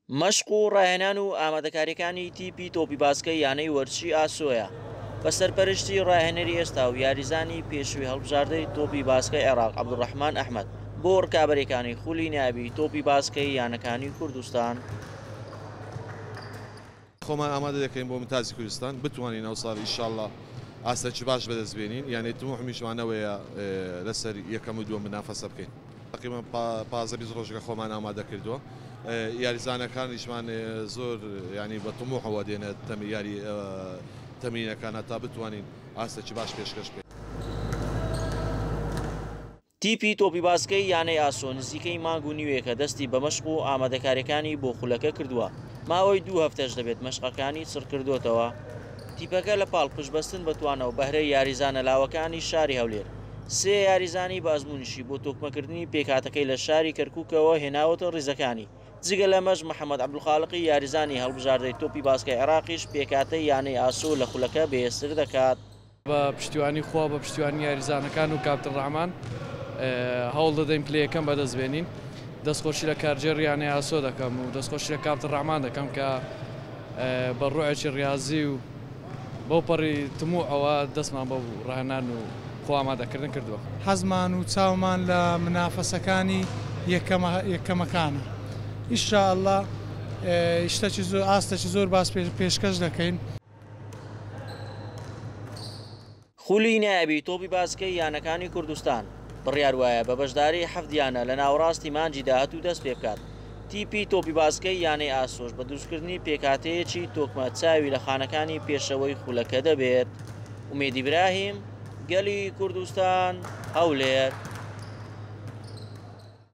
مەشق و ڕاهێنان و ئامادەکارییەکانی تیپی تۆپی باسکەی یانەی وەرزشی ئاسۆیە بە سەرپەرشتی ڕاهێنەری ئێستا و یاریزانی پێشووی هەڵبژاردەی تۆپی باسکەی عێراق عەبدولڕەحمان ئەحمەد بۆ ڕکابەرییەکانی خولی نایابی تۆپی باسکەی یانەکانی کوردستان. خۆمان ئامادە دەکەین بۆ ممتازی کوردستان بتوانین ئەوساڵ ئیشاڵڵا ئاستێکی باش بەدەست بێنین یانەی تموحمیشمان ئەوەیە لەسەر یەکەم و دووەم منافەسە بکەین. تەقریبەن 15 20 ڕۆژەکە خۆمان ئامادە کردووە یاریزانەکانیشمان زۆر یانی بە تموحەوە دێنە یاری تەمرینەکان هەتا بتوانین ئاستێکی باش پێشکەش بکەین. تیپی تۆپی باسکەی یانەی ئاسۆ نزیکەی مانگ و نیوێکە دەستی بە مەشق و ئامادەکارییەکانی بۆ خولەکە کردووە، ماوەی دوو هەفتەش دەبێت مەشقەکانی چڕکردۆتەوە. تیپەکە لە پاڵ پشتبەستن بە توانا و بەهرەی یاریزانە لاوەکانی شاری هەولێر، سێ یاریزانی بە ئەزموونیشی بۆ تۆکمەکردنی پێکهاتەکەی لە شاری کەرکووکەوە هێناوەتە ریزەکانی. جگە لەمەش محەمەد عەبدولخالقی یاریزانی هەڵبژاردەی تۆپی باسکەی عێراقیش پێکهاتەی یانەی ئاسۆ لە خولەکە بەهێزتر دەکات. بە پشتیوانی خوا بە پشتیوانی یاریزانەکان و کاپتن ڕەحمان هەوڵ دەدەین پلەی یەکەم بەدەست بێنین. دەستخۆشی لە کارگێڕی یانەی ئاسۆ دەکەم و دەستخۆشی لە کاپتن ڕەحمان دەکەم کە بە ڕوحێکی ڕیازی و بەو پەڕی تموحەوە دەستمان بەو ڕاهێنان و خۆ ئامادەکردن کردووە. حەزمان و چاومان لە منافەسەکانی یەکەمەکانە ان شاء اللە شتەکی زۆر ئاستەکی زۆر باش پێشکەش دەکەین. خولی نایابی تۆپی باسکەی یانەکانی کوردستان بڕیار وایە بە بەشداری حەفت یانە لە ناوەڕاستی مانگی داهاتوو دەست پێبکات، تیپی تۆپی باسکەی یانەی ئاسۆش بە دروستکردنی پێکهاتەیەکی تۆکمە چاوی لە خانەکانی پێشەوەی خولەکە دەبێت. ئومێد ئیبراهیم، گەلی کوردستان، هەولێر.